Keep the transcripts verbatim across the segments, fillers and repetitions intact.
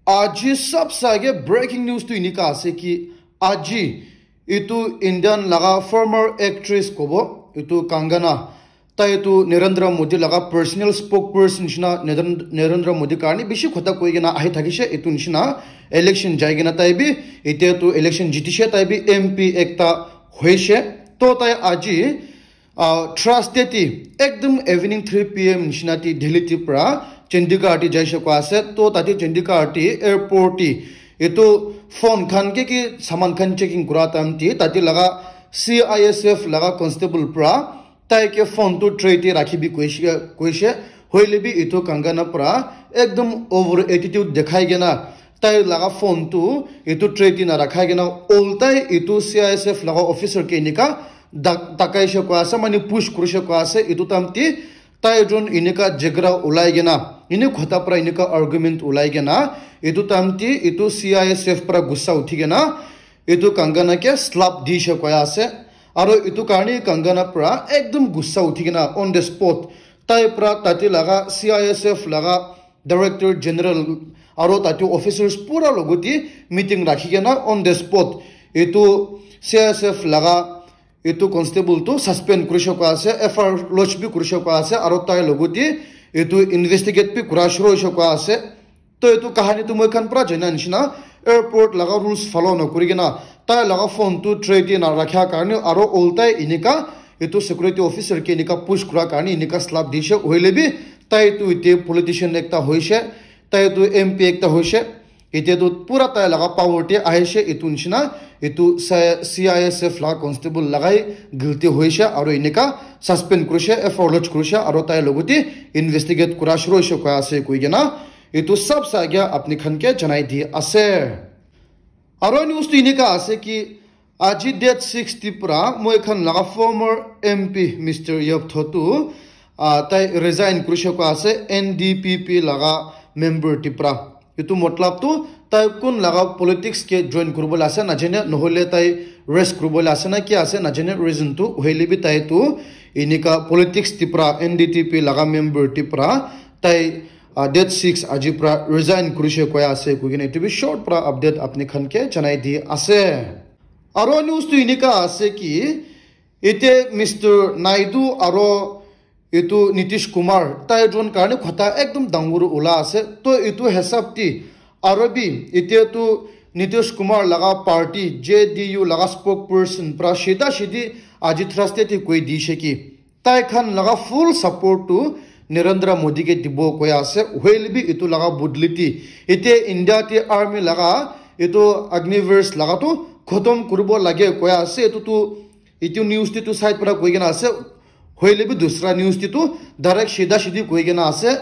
Aji sabse aage breaking news tu enika ase ki aji etu Indian laga former actress kobo, etu Kangana, tai tu Narendra Modi laga personal spokesperson nishina, Naren-, Narendra Modi karne bishi khota koi kena ahi thakishe. Etu nishina election jai kena tai bi, etia tu election jitishe, tai bi M P ekta hoishe. To tai aji, ah, Thursday ti ekdum evening three P M nishina ti Delhi ti pra Chandigarh ti jaishe koi ase. To tate Chandigarh ti airport ti etu phone khan ki ki saman khan checking kura time ti tate laga C I S F laga constable pra tai ke phone tu tray te rakhi bi koishe, koishe. Hoile bi etu Kangana pra ekdum over attitude dekhai kena tai laga phone tu etu tray te na rakhai kena oltai etu C I S F laga officer ke enika dak-, dakaishe koi ase, mane push kurishe koi ase. Etu time ti tai jon enika jhagara ulai kena, ene khota pra enika argument ulai kena, etu time ti etu C I S F pra gussa uthi kena etu Kangana ke slap dishe koi ase. Aro etu karne Kangana pra ekdum gussa uthi kena on the spot tai pra tate laga C I S F laga director general aro tate officers pura logote meeting rakhi kena on the spot etu C I S F laga etu constable tu suspend kurishe koi ase, F I R lodge bi kurishe koi ase, aro tai logote etu investigate bi kura shuru hoishe koi ase. To etu kahani tu moi khan pra jana nishina airport laga rules follow na kuri kena tai laga phone tu tray te na rakha karne aro oltai enika etu security officer ke enika push kura karne enika slap dishe. Hoile bi tai tu ite politician ekta hoishe, tai tu M P ekta hoishe, ite tu pura tai laga power te ahishe. Etu nishina etu C I S F laga constable lagai guilty hoishe aro enika suspend kurishe, F I R lodge kurishe aro tai logote investigate kura shuru hoishe koi ase koi kena etu sabse aage apni khan ke janai di ase. Aro news tu enika ase ki aji date six ti pra moi khan laga former M P Mister Yop Tho tu, ah, tai resign kurishe koi ase N D P P laga member ti pra. Etu matlab tu tai kun laga politics ke join kuribole ase najane, nohole tai rest kuribole ase na ki ase najane, reason tu hoile bi tai tu enika politics ti pra, N D P P laga member ti pra tai, ah, date six aji pra resign kurishe koi ase koi kena etu bi short pra update apni khan ke janai di ase. Aro news tu enika ase ki ite Mister Naidu aro etu Nitish Kumar tai jon karne khota ekdum dangor ula ase. To etu hisab ti aro bi ite tu Nitish Kumar laga party J D U laga spokesperson pra shida shidi aji Thursday ti koi dishe ki tai khan laga full support tu Narendra Modi ke dibo koi ase. Hoile bi etu laga bodli ti ite India ti army laga etu Agniveer laga tu khotom kuribo lage koi ase. Etu tu etu news ti tu side pra koi kena ase. Hoile bi dusra news ti tu direct shida shidi koi kena ase.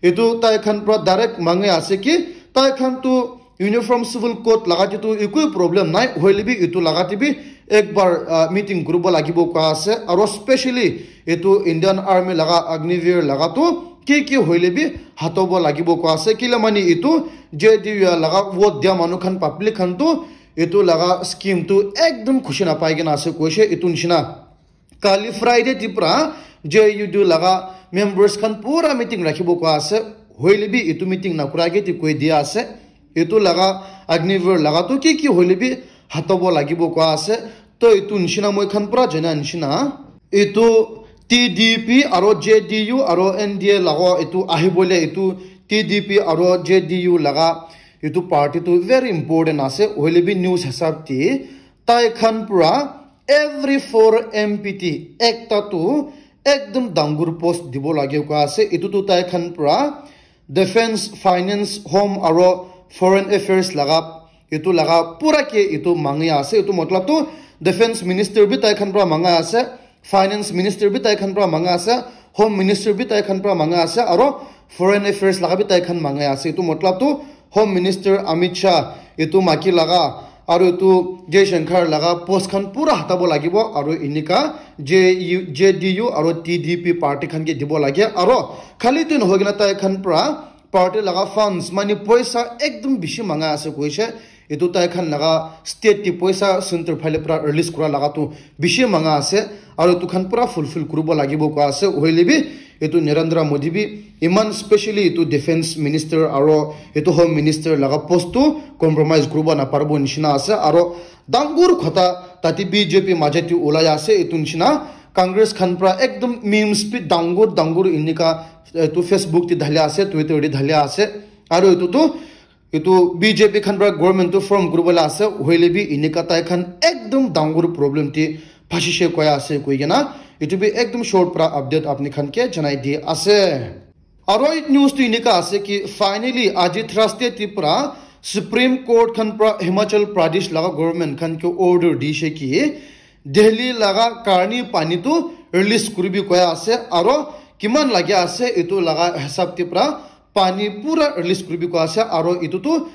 Etu tai khan pra direct mangi ase ki tai khan tu uniform civil code laga te tu ekoi problem nai, hoile bi etu laga te bi ek bar, ah, meeting kuribo lagibo koi ase. Aro specially etu Indian Army laga Agniveer laga tu ki ki hoile bi hatobo lagibo koi ase. Kile mane etu J D U laga vote dia manu khan, public khan tu etu laga scheme tu ekdum khushi napai kena ase koishe. Etu nishina kali Friday ti pra J U D laga members khan pura meeting rakhibo koi ase. Hoile bi etu meeting nakura ke ti koi dia ase. Etu laga Agniveer laga tu ki ki hoile bi hatobo lagibo koi ase. To etu nishina moi khan pura jana nishina etu T D P aro J D U aro N D A laga etu ahibole etu T D P aro J D U laga etu party tu very important ase. Hoile bi news hisab ti tai khan pura every four M P ti ekta tu ekdum dangor post dibo lage koi ase. Etu tu tai khan pura defense, finance, home aro foreign affairs laga etu laga pura ke etu mangi ase. Etu matlab tu defense minister bi tai khan pura manga ase, finance minister bi tai khan pura manga ase, home minister bi tai khan pura manga ase, aro foreign affairs laga bi tai khan manga ase. Etu matlab tu Home Minister Amit Shah etu maki laga aro etu Jaishankar laga post khan pura hatabo lagibo aro enika J U, J D U aro T D P party khan ke dibo lage. Aro khali tu nohoi kena tai khan pura party laga funds, mane poisa ekdum bishi manga ase koishe. etu tai khan laga state te poisa center phale pura release kura laga tu bishi manga ase, aru etu khan pura fulfill kuribo lagibo koi ase. Hoile bi etu Narendra Modi bi iman specially etu defense minister aru etu home minister laga post tu compromise kuribo naparibo nishina ase, aru dangur khota tate B J P maje te ulai ase etu nishina. Congress khan pura ekdom memes bi dangur dangur enika etu Facebook te dhali ase, Twitter te dhali ase, aru etu tu etu B J P khan pura government tu form kuribole ase, hoile bi enika tai khan ekdom dangur problem te phasishe koi ase koi kena etu bi ekdom short pura update apni khan ke janai di ase. Aro ek news tu enika ase ki finally aji Thursday te pura Supreme Court khan pura Himachal Pradesh laga government khan ke order dishe ki Delhi laga karni pani tu release kuribi koi ase, aro kiman lagi ase etu laga hisab te pura pani pura release kuribi koi ase, aro etu tu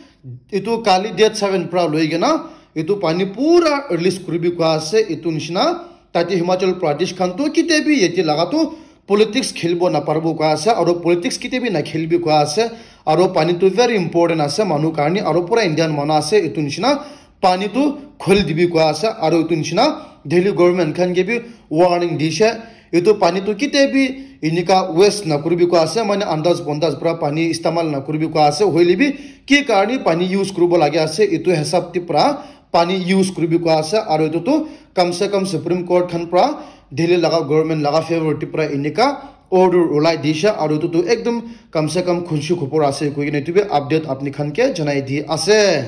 etu kali date seven pura loi kena etu pani pura release kuribi koi ase. Etu nishina tate Himachal Pradesh khan tu kite bi yate laga tu politics khelibo naparibo koi ase, aro politics kite bi nakhelibi koi ase, aro pani tu very important ase manu karni, aro pura Indian manu ase etu nishina pani tu kholi dibi koi ase, aro etu nishina Delhi government khan ke bi warning dishe, etu pani tu kite bi enika waste nakuribi koi ase, mane andaz bondaz pura pani istemal nakuribi koi ase, hoile bi ki karni pani use kuribo lagi ase etu hisab te pura pani use kuribi koi ase, aro etu tu kam se kam Supreme Court khan pura Delhi laga government laga favor te pura enika order ulai dishe, aro etu tu ekdom kam se kam khunshi khupor ase koi kena etu bi update apni khan ke janai di ase.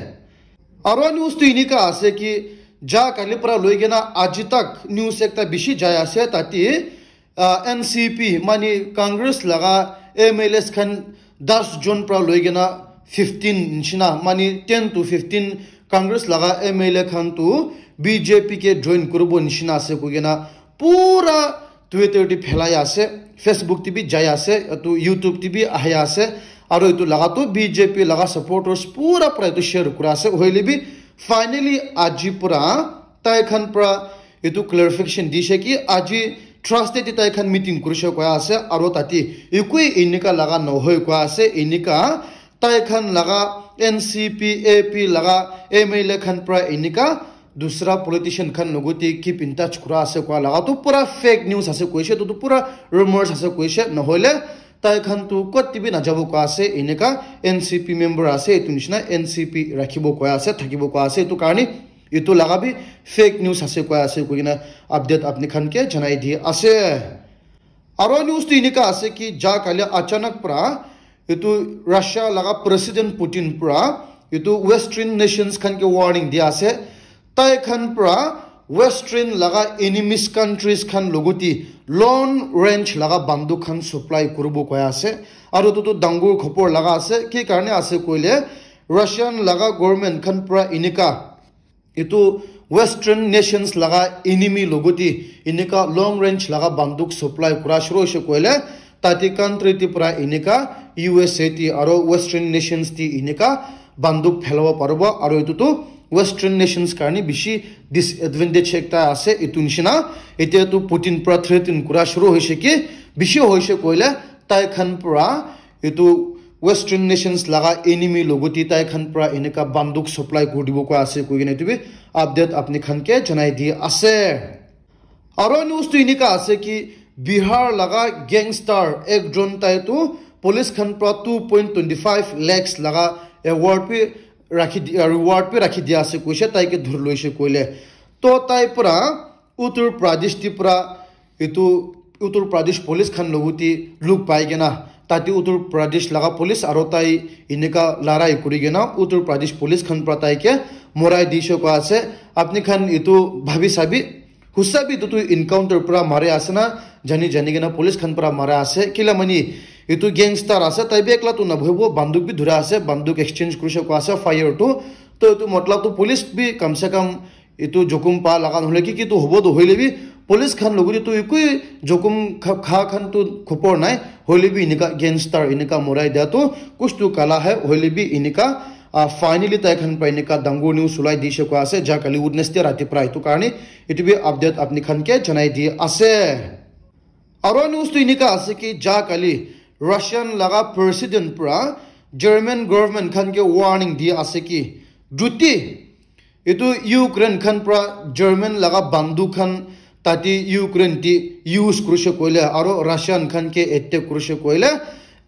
Aro news tu enika ase ki ja kali pura loi kena aji tak news ekta bishi jai ase, tate ah, N C P mane Congress laga M L As khan das jon pura loi kena fifteen nishina, mane ten to fifteen Congress laga M L A khan tu B J P ke join kuribo nishina ase koi kena pura Twitter te phelai ase, Facebook te bi jai ase, etu YouTube te bi ahi ase, aro etu laga tu B J P laga supporters pura pura etu share kura ase. Hoile bi finally aji pura tai khan pura etu clarification dishe ki aji Thursday te tai khan meeting kurishe koi ase, aro tate ekoi enika laga nohoi koi ase, enika tai khan laga N C P, A P laga M L A khan pura enika dusra politician khan logote keep in touch kura ase koi laga tu pura fake news ase koishe, tu tu pura rumors ase koishe, nohoile tai khan tu kot te bi najabo koi ase, enika N C P member ase, etu nishina N C P rakhibo koi ase, thakibo koi ase, etu karni etu laga bi fake news ase koi ase koi kena update apni khan ke janai di ase. Aro news tu enika ase ki ja kali achanak pura etu Russia laga President Putin pura etu Western nations khan ke warning dia ase, tai khan pura Western laga enemies countries khan logote long range laga banduk khan supply kuribo koi ase, aro etu tu dangur khupor laga ase. Ki karne ase koile Russian laga government khan pura enika etu Western nations laga enemy logote enika long range laga banduk supply kura shuru hoise koile tate country te pura enika U S A te aro Western nations te enika banduk phelabo paribo, aro etu tu Western nations karne bishi disadvantage ekta ase. Etu nishina etia tu Putin pura threaten kura shuru hoise ki bishi hoise koile tai khan pura etu Western nations laga enemy logote tai khan pura enika banduk supply kuri dibo koi ase koi kena etu bi update apni khan ke janai di ase. Aro news tu enika ase ki Bihar laga gangster ekjon tai tu police khan pura two point twenty five lakhs laga award bi rakhi di, reward bi rakhi dia ase koishe, tai ke dhuri loishe koile. To tai pura Uttar Pradesh te pura etu Uttar Pradesh police khan logote lug pai kena tate Uttar Pradesh laga police aro tai enika larai kuri kena Uttar Pradesh police khan pura tai ke morai dishe koi ase. Apni khan etu bhabi sabi, hosa bi etu tu encounter pura mare ase na jani jani kena police khan pura mara ase, kila mani etu gangster ase, tai bi ekla tu nabohibo, banduk bi dhura ase, banduk exchange kurishe koi ase fire tu. To etu matlab tu police bi kam se kam etu jokhom pa laga nohole ki ki tu hobo tu hoile bi police khan logote tu ekoi jokhom kha, kha khan tu khopor nai, hoile bi enika gangster enika morai dia tu kuch tu kala hai, hoile bi enika, ah, finally tai khan pura enika dangur news ulai dishe koi ase ja kali Wednesday rati pura, etu karne etu bi update apni khan ke janai di ase. Aro news tu enika ase ki ja kali Russian laga president pura German government khan ke warning di ase ki Juti etu Ukraine khan pra German laga banduk khan tate Ukraine te use kurishe koile aro Russian khan ke attack kurishe koile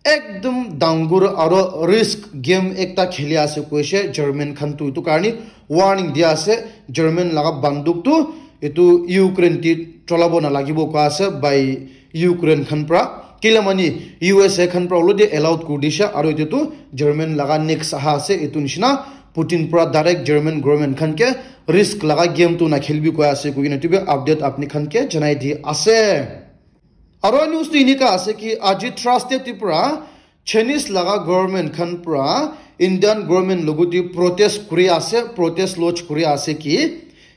ekdum dangur aro risk game ekta kheli ase koishe German khan tu. Etu karni warning dia ase German laga banduk tu etu Ukraine te cholabo nalagibo koa ase by Ukraine khan pra. Kila mani U S A khan pra already allowed kuri dishe aro etu tu German laga next aha ase etu nishina Putin pra direct German government khan ke risk laga game tu nakhelibi koi ase koikena etu bi update apni khan ke janai di ase. Aro news tu enika ase ki aji Thursday te pra Chinese laga government khan pra Indian government logote protest kuri ase, protest lodge kuri ase ki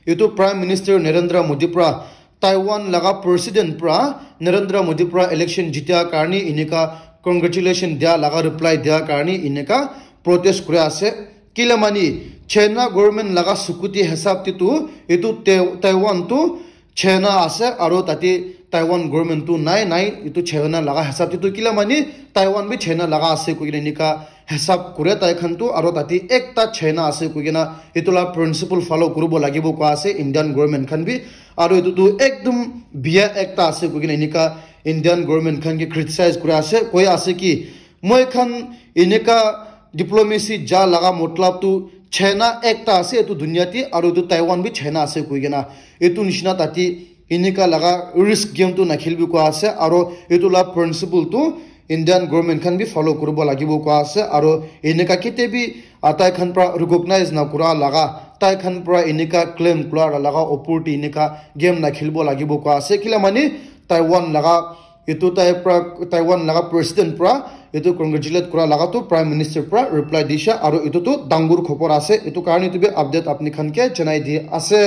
etu Prime Minister Narendra Modi pra Taiwan laga president pra Narendra Modi pra election jitia karni enika congratulation dia laga reply dia karni enika protest kuri ase. Kila mani China government laga sukuti hisab te tu etu Te- Taiwan tu China ase aro tate Taiwan government tu nai nai etu China laga hisab te tu kila mani Taiwan bi China laga ase koikena enika hisab kure tai khan tu aro tate ekta China ase koikena etu la principle follow kuribo lagibo koa ase Indian government khan bi aro etu tu ekdum biya ekta ase koikena enika Indian government khan ke criticize kura ase koi ase ki moi khan enika diplomacy ja laga matlab tu China ekta ase etu dunia te aro etu Taiwan bi China ase koikena etu nishina tate enika laga risk game tu nakhelibi koa ase aro etu la principle tu Indian government khan bi follow kuribo lagibo koa ase aro enika kete bi ah, tai khan pra recognize na kura laga tai khan pra enika claim kura laga opor te enika game nakhelibo lagibo koa ase kila mani Taiwan laga etu tai pra Taiwan laga president pra etu congratulate kura laga tu prime minister pra reply disha aro etu tu dangur khobor ase etu karni tu bi update apni khan ke janai di ase.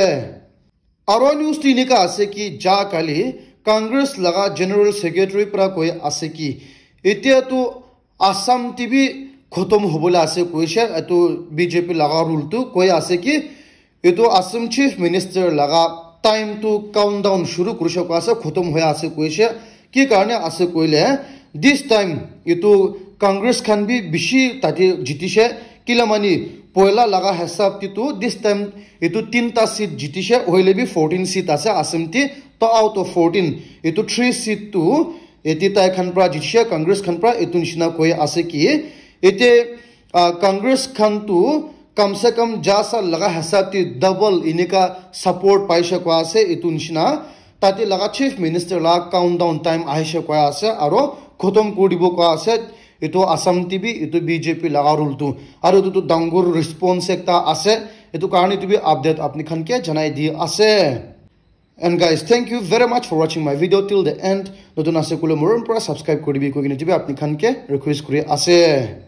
Aro news tu enika ase ki ja kali Congress laga General Secretary pra koi ase ki etia tu Assam te bi khotom hobole ase koishe etu B J P laga rule tu koi ase ki etu Assam Chief Minister laga time tu countdown shuru kurishe koi ase khotom hoi ase koishe ki karne ase koile this time etu Congress khan bi bishi tate jitishe kila mani poila laga hisab te tu this time etu tinta seat jitishe hoile bi fourteen seat ase Assam te to out of fourteen etu three seat tu eti tai khan pra jitishe Congress khan pra etu nishina koi ase ki ete ah, Congress khan tu kam se kam ja sa laga hisab te double enika support paishe koi ase etu nishina tate laga Chief Minister la countdown time ahishe koi ase aro khotom kuri dibo koi ase etu Assam te bi etu B J P laga rule tu aro etu tu dangur response ekta ase etu karne tu bi update apni khan ke janai di ase. And guys, thank you very much for watching my video till the end. Notun ase kule morom pura subscribe kuri dibi koikena tu bi apni khan ke request kuri ase.